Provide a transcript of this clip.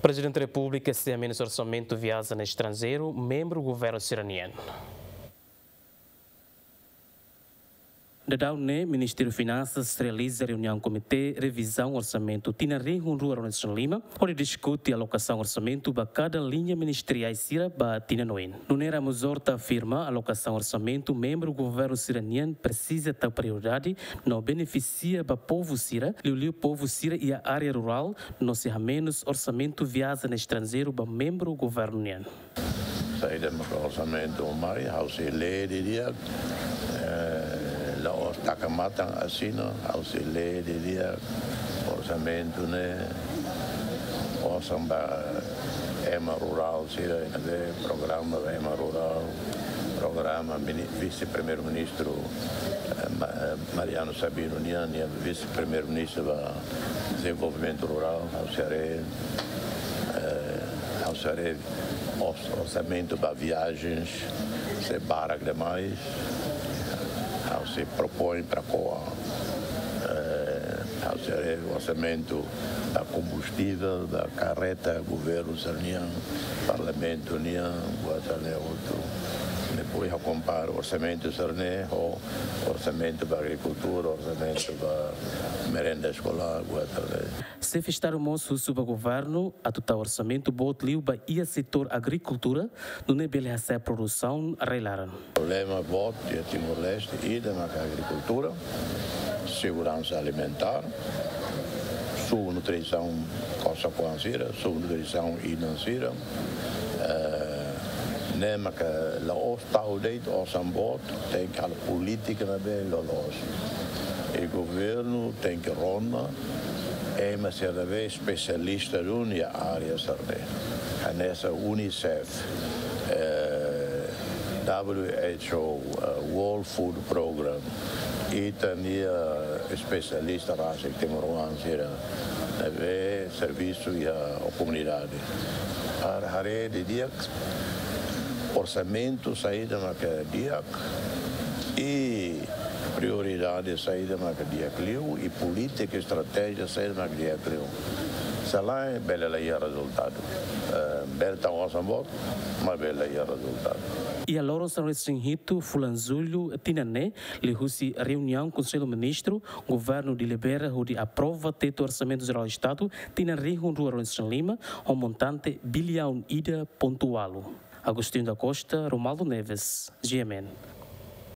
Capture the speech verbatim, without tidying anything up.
Prezidente Repúblika sei hamenus orsamentu viajen estranjeiru membru governu sira-nian. Daudaun ne'e, Ministériu Finansas realiza reuniaun komité revizaun orsamentu tinan rihun rua ruanulu-resin-lima, hodi diskute alokasaun orsamentu ba kada liña ministeriál sira ba tinan oin. Nuneira Ramos Horta afirma alokasaun orsamentu membru governu sira-nian presiza tau prioridade no benefisia ba povu sira, liuliu povu sira iha área rurál, no sei hamenus orsamentu viajen estranjeiru ba membru governu nian. Saida maka orsamentu mai, ha'u sei lee didi'ak, eh, la'ós taka matan asina, ha'u sei lee didi'ak, orsamentu ne'e, osan ba ema rurál sira, ne'ebé programa ba ema rurál, programa mini-, vise-primeiru-ministru, eh, Ma-, eh, Mariano Sabino nian, nia vise-primeiru-ministru ba dezenvolvimentu rurál, ha'u sei haree, eh, ha'u sei haree ors-, orsamentu ba viajens sei barak demais. Ha'u sei propoin para ko'a, eh, ha'u sei haree orsamentu ba kombustivel, ba karreta governu sira-nian, parlamentu nian, buat sira-ne'e hotu. Depois ha'u kompara orsamentu sira-ne'e ho orsamentu ba agrikultura, orsamentu ba merenda eskolár, buat sira-ne'e. Xefe Estadu mós husu ba governu atu tau orsamentu boot liu ba iha setór agrikultura, nune'e bele hasa'e produsaun rai-laran. Problema boot iha Timor-Leste, ida maka agrikultura, seguransa alimentár, subnutrisaun kosar-kuan sira, subnutrisaun inan sira, eh, ne'e maka la'ós tau de'it osan boot, tenke halo polítika ne'ebé loloos. I governu tenke rona ema sira ne'ebé espesialista duni iha área sira-ne'e. Hanesan UNICEF, eh, W H O, eh, World Food Program, ita-nia espesialista rasik timoroan sira ne'ebé servisu iha komunidade. Para haree didi'ak orsamentu saida maka di'ak i prioridade saida maka di'ak liu i polítika estratéjia saida maka di'ak liu. Se lae, bele la iha rezultadu. Eh, bele tau osan boot, maibé la iha rezultadu. Iha loron sanulu-resin-hitu fulan Jullu tinan ne'e, liuhusi reuniaun Konsellu Ministru, governu delibera hodi aprova tetu Orsamentu Jerál Estadu tinan rihun rua ruanulu-resin-lima, ho montante biliaun ida pontu ualu. Agostinho da Costa, Romualdo Neves, G M N.